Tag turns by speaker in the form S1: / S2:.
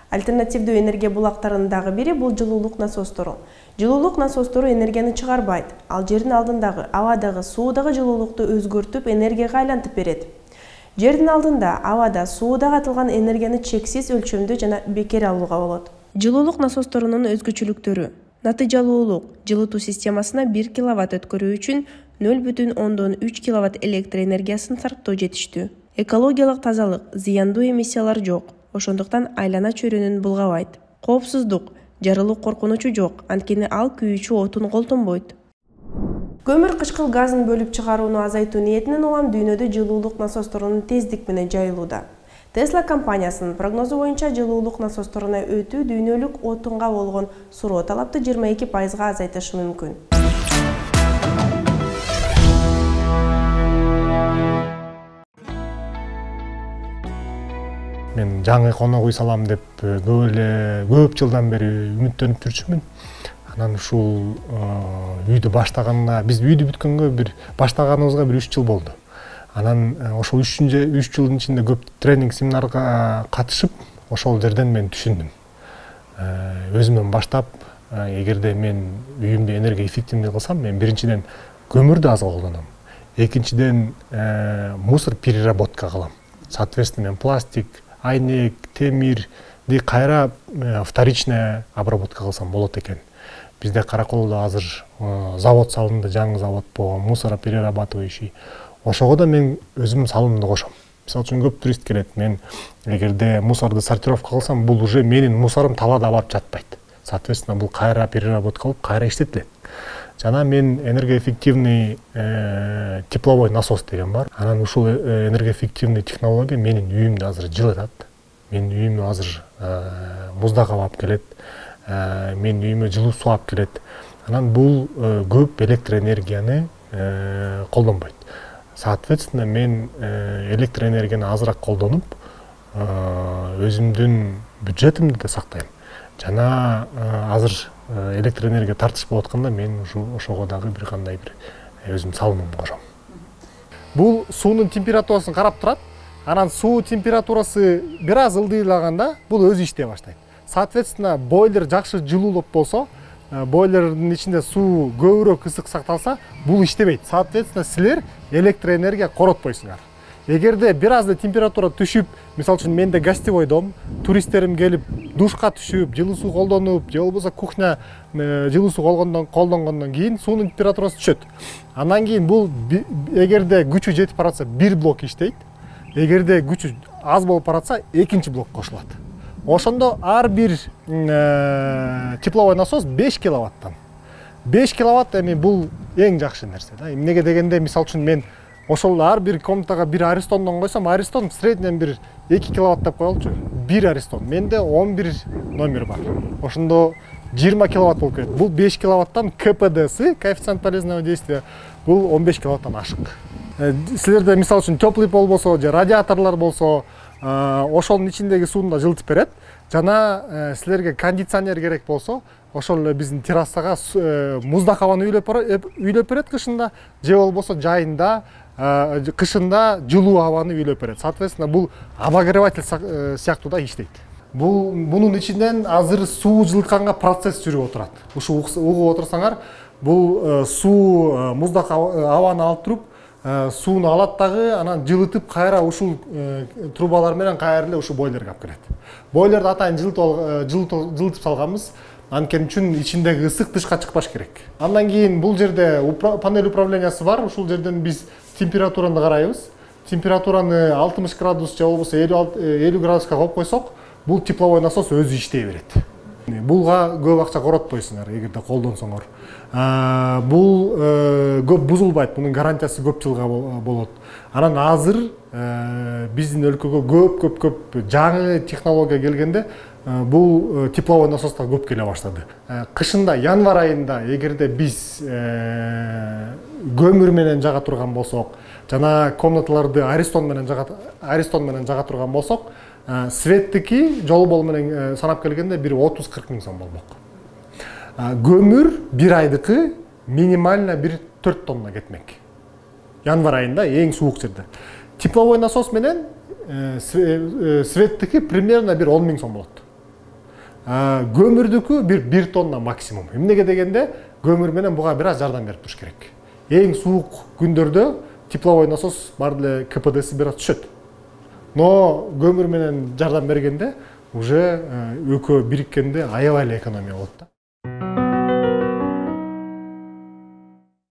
S1: Альтернативдүү энергия булактарынын дагы бири бул жылуулук насостору. Жылуулук насостору энергияны чыгарбайт. Ал жердин алдындагы, абадагы, суудагы жылуулукту өзгөртүп энергияга айлантып берет. Жердин алдында, абада, сууда атылган энергияны чексиз өлчөмдө жана бекер алууга болот. Жылуулук насосторунун өзгөчөлүктөрү. Натыйжалуулук. Жылытуу системасына 1 киловатт өткөрүү үчүн 0,3 киловатт электр энергиясын сарптоо жетиштүү. Экологиялык тазалык, зыяндуу эмиссиялар жок. Ошондуктан айлана чөйрөнүн булгабайт. Коопсуздук. Жарылуу коркунучу жок, анткени ал күйүүчү отун колтонбойт. Көмүр кычкыл газын бөлүп чыгарууну азайтуу ниетинен улам дүйнөдө жылуулук насосторунун тездик менен жайылууда. Tesla компаниясынын прогнозу боюнча жылуулук насосторуна өтүү дүйнөлүк отунга болгон суроо талапты 22% азайтышы мүмкүн.
S2: Мен жаңы конок үй салам деп көп жылдан бери үмүттөнүп жүрчүмүн. Анан ушул үйдү баштаганына, биз үйдү бүткөнгө баштаганыбызга 3 жыл болду. Анан ошол 3 жылдын ичинде көп тренинг семинарга катышып, ошол жерден мен түшүндүм. Өзүмөн баштап, эгерде мен үйүмдү энергия эффективный кылсам, мен биринчиден көмүрдү аз колдоном. Экинчиден мусор переработка кылам. Соответственно, мен пластик, айнек, темирди кайра вторичная обработка кылсам болот экен. Бизде Караколдо азыр завод салынды, жаңы завод болгон, мусороперерабатывающий. Ошого да мен өзүмдүн салымымды кошом. Мисалы үчүн көп турист келет. Мен эгерде мусорду сортировка кылсам, бул уже менин мусорум талаада барып жатпайт. Соответственно, бул кайра переработкалып, кайра иштетилет. Жана мен энергоэффективный тепловой насос деген бар. Анан ушул энергоэффективный технология менин үйүмдү азыр жылытат. Менин үйүмө азыр муздак аба алып келет. Менин үйүмө жылуу суу алып келет. Анан бул көп электроэнергияны колдонбойт. Соответственно, мен электроэнергияны азыраак колдонуп, өзүмдүн бюджетимди да сактайм. Жана азыр электроэнергия тартыш болуп атканда мен ошого дагы бир кандай бир өзүм салымымды кошом. Бул суунун температурасын карап турат. Анан суу температурасы бир аз ылдыйлаганда бул өзү иштей баштайт. Соответственно, бойлер жакшы жылуулуп болсо, бойлердин ичинде суу көбүрөөк ысык сакталса, бул иштебейт. Соответственно, силер электроэнергия коротпойсуңар. Эгерде бир аз температура түшүп, мисалы үчүн менде гостевой дом, туристтерим келип душка түшүп, жылуу суу колдонуп, же болбосо кухня жылуу суу колдонгондон кийин суунун температурасы түшөт. Андан кийин бул эгерде күчү жетип баратса, бир блок иштейт. Эгерде күчү аз болуп баратса, экинчи блок кошулат. Ошондо ар бир тепловой насос 5 киловаттан. 5 киловатт эми бул эң жакшы нерсе да. Эмнеге дегенде, мисалы үчүн мен ошол ар бир комнатага бир аристондон койсом, аристон среднен бир 2 киловатт деп коелучу. Бир аристон. Менде 11 номер бар. Ошондо 20 киловатт болуп кетет. Бул 5 киловаттан КПД-сы, коэффициент полезного действия, бул 15 киловаттан ашык. Силерде мисалы үчүн теплый пол болсо, же радиаторлор болсо, ошонун ичиндеги сууну да жылытып берет. Жана силерге кондиционер керек болсо, ошол эле биздин террасага муздак абаны үйлөп берет кышында, же болбосо жайында, кышында жылуу абаны үйлөп берет. Соответственно, бул обогреватель сыяктуу да иштейт. Бунун ичинен азыр суу жылытканга процесс жүрүп отурат. Ушу угуп отурсаңар, бул суу муздак абаны алып туруп, сууну алат дагы, анан жылытып кайра ушул трубалар менен кайра эле ушу бойлерге алып келет. Бойлерди атайын жылытып салганбыз. Анткени үчүн ичиндеги ысык тышка чыкпаш керек. Андан кийин бул жерде панель управлениясы бар. Ушул жерден биз температураны карайбыз. Температураны 60 градус же болбосо 50 градуска коюп койсок, бул тепловой насос өзү иштей берет. Булга көп акча коротпойсуңар эгерде колдонсоңор. Бул көп бузулбайт, бунун гарантиясы көп жылга болот. Анан азыр биздин өлкөгө көп жаңы технология келгенде бул тепловой насостор көп келе баштады. Кышында, январь айында эгерде биз көмүр менен жага турган болсок, жана комнаталарды аристон менен жага турган болсок, светтики жолбол менен санап келгенде бир 30-40 миң сом болмок. Көмүр бир айдыкы минимально бир 4 тонна кетмек. Январь айында эң суук жерде. Тепловой насос менен светтики примерно бир 10 миң сом болот. көмүрдүкү бир тонна максимум. Эмнеге дегенде көмүр менен буга бир аз жардам берип туруш керек. Эң суук күндөрдө тепловой насос бар эле КПДси бир аз түшөт. Но көмүр менен жардам бергенде уже экөө бириккенде аябай эле экономия болот да.